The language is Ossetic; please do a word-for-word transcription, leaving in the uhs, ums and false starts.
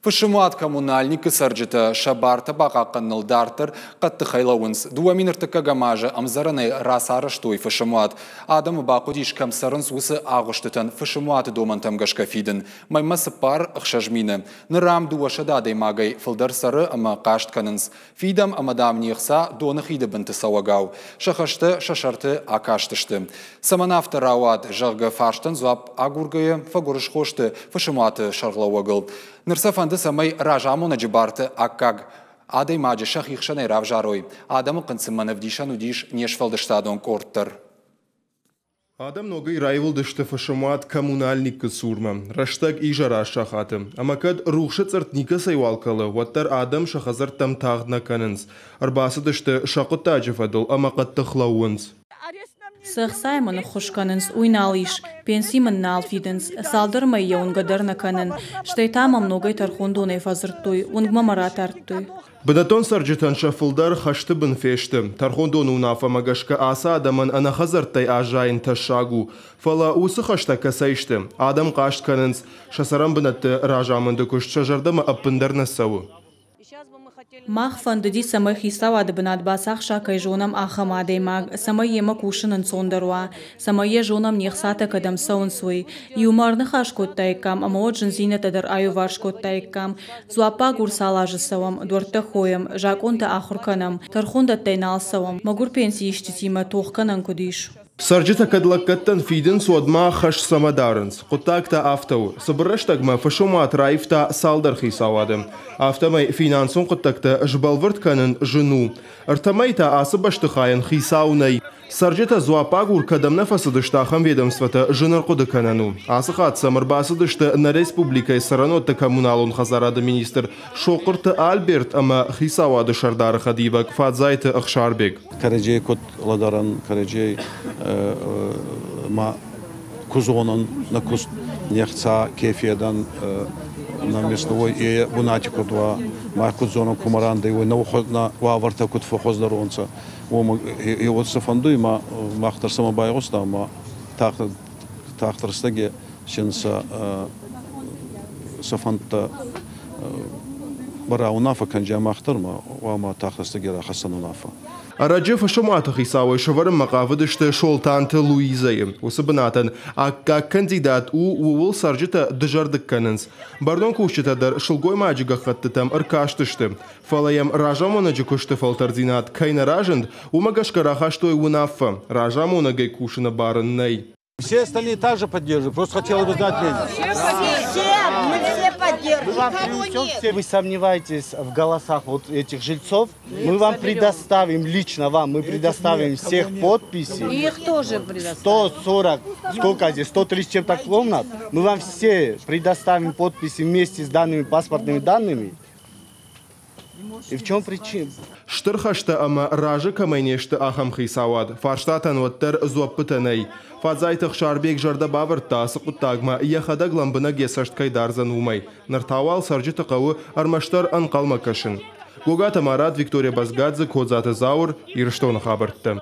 Фысымуат Коммунальникы цӕрджытӕ сӕ бартӕ бахъахъхъӕныныл дарддӕр хъӕддыхӕй лӕууынц. Дыууӕ мин ӕртыккӕгӕм азы ӕмдзӕрӕнӕй рацарӕзтой фысымуат. Адӕмы бахъуыдис, кӕм цӕрынц, уыцы агъуыстытӕн фысымуаты домӕнтӕм гӕсгӕ фидын. Мӕймӕ цыппар ӕхсӕз мины. Ныр ам дыууӕсӕдӕ адӕймагӕй фылдӕр цӕры ӕмӕ хъаст кӕнынц. Фидӕм ӕмӕ, дам, не хца доны хиды бынты цӕуӕгау. Сӕ хӕстӕ сӕ сӕрты акастысты. Цӕмӕн афтӕ рауад, зӕгъгӕ, фарстӕн дзуапп агургӕйӕ фӕгуырысхо сты фысымуаты сӕргълӕууӕгыл. Ныр сӕ фӕнды, цӕмӕй разамонӕджы барты аккаг адӕймаджы сӕхи хсӕнӕй равзарой. Адӕмы хъынцъымӕн ӕвдисӕн уыдис не сфӕлдыстадон къорд дӕр. Адӕм ногӕй раивылдысты фысымуат Коммунальникы цурмӕ. Рӕстӕг изӕры аст сахаты. Ӕмӕ кӕд рухсы цъыртт никӕцӕйуал кӕлы, уӕддӕр адӕм сӕ хӕдзӕрттӕм тагъд нӕ кӕнынц. Ӕрбацыдысты сӕ хъуыддаджы фӕдыл ӕмӕ хъӕддых лӕууынц. Цы ӕхцайӕ мын ӕххуыс кӕнынц, уый нал ис. Пенси мын нал фидынц. Цалдӕр мӕй йӕ уынгӕ дӕр нӕ кӕнын. Стӕй та мӕм ногӕй тӕрхондонӕй фӕдзырдтой, уынгмӕ мӕ ратардтой. Бынӕттон цӕрджытӕн сӕ фылдӕр хӕсты бын фесты. Тӕрхондоны уынаффӕмӕ гӕсгӕ ацы адӕмӕн ӕнӕ хӕдзӕрттӕй аззайын тӕссаг у. Фӕлӕ уыцы хӕстӕ кӕцӕй сты? Адӕм хъаст кӕнынц, сӕ цӕрӕнбынӕтты разамынды куыст сӕ зӕрдӕмӕ ӕппындӕр нӕ цӕуы. Мах фӕндыди, цӕмӕй хицауады бынат бацахса, кӕй зонӕм, ахӕм адӕймаг, цӕмӕй йемӕ кусын ӕнцондӕр уа, цӕмӕй йӕ зонӕм, не хцатӕ кӕдӕм цӕуынц, уый. Иумӕ ӕрныхас кодтаиккам ӕмӕ уӕд зындзинӕдтӕ дӕр аиуварс кодтаиккам. Дзуаппагур цал азы цӕуӕм, дуӕрттӕ хойӕм, закъонтӕ ахуыр кӕнӕм, тӕрхондӕттӕй нал цӕуӕм, мӕгуыр пенсиисджытимӕ тох кӕнӕн куыд ис? Цӕрджытӕ кӕд лӕггӕдтӕн фидынц, уӕд ма хӕс цӕмӕ дарынц? Хъуыддаг та афтӕ у. Цыбыр рӕстӕгмӕ фысымуат раивта цалдӕр хицауады. Афтӕмӕй финансон хъуыддӕгтӕ сбӕлвырд кӕнын зын у. Ӕртӕ мӕй та ацы бӕстыхайӕн хицау нӕй. Цӕрджытӕ дзуаппагур кӕдӕм нӕ фӕцыдысты, ахӕм ведомствотӕ зын ӕрхъуыды кӕнӕн у. Ацы хатт сӕм ӕрбацыдысты нӕ республикӕйы цӕрӕнуӕтты коммуналон хӕдзарады министр Сохъуырты Альберт ӕмӕ хицауады сӕрдары хӕдивӕг Фадзайты Ӕхсарбег. Кӕрӕдзей куд лӕдӕрӕн, кӕрӕдзей ма ку зонӕн, нӕ куст не хца ке федӕн, нӕ место уой е бунати куд уа, мах куд зонӕн, кумӕ рандӕй уой, нӕ уавӕртӕ куд фӕххуӕздӕр уонцӕ, уомӕ е уод сӕ фӕндуй, ма мах дӕр сӕмӕ байгъустам, ма тагъд тагъд рӕстӕги син сӕ сӕ фӕндтӕ бараунаффӕ кӕнджа мах дӕр ма уама тагъд рӕстӕги рахӕссӕн унаффӕ. Ӕрӕджы фысымуаты хицауӕй сӕвӕрынмӕ хъавыдысты Солтанты Луизӕйы. Уыцы бынатӕн аккаг кандидат у, ууыл цӕрджытӕ дызӕрдыг кӕнынц. Бӕрнон кусджытӕ дӕр сылгоймаджы гӕххӕттытӕм ӕркастысты. Фӕлӕ йӕм разамонӕджы куысты фӕлтӕрддзинад кӕй нӕ разынд, уымӕ гӕсгӕ рахастой уынаффӕ. Разамонӕгӕй кусыны бар ын нӕй. Все остальные также поддерживают. Просто хотела бы знать мнение. Все, все, мы все поддерживаем. Вы сомневаетесь в голосах вот этих жильцов? Мы вам предоставим, лично вам, мы предоставим всех подписи. И их тоже предоставим. сто сорок, сколько здесь, сто тридцать чем-то комнат. Мы вам все предоставим подписи вместе с данными паспортными данными. И в чем причина? Стыр хӕстӕ ӕмӕ разы кӕмӕй не сты, ахӕм хицауад. Фарстатӕн уӕддӕр дзуӕппытӕ нӕй. Фадзайты Ӕхсарбег зӕрдӕ бавӕрдта, ацы хъуыддагмӕ йӕхӕдӕг лӕмбынӕг йӕ цӕст кӕй дардзӕн, уымӕй. Ныр та уал цӕрджыты хъӕуы ӕрмӕстдӕр ӕнхъӕлмӕ кӕсын. Гогаты Марат, Виктория Базгадзе, Кодзаты Зауыр, Ирыстоны хабӕрттӕ.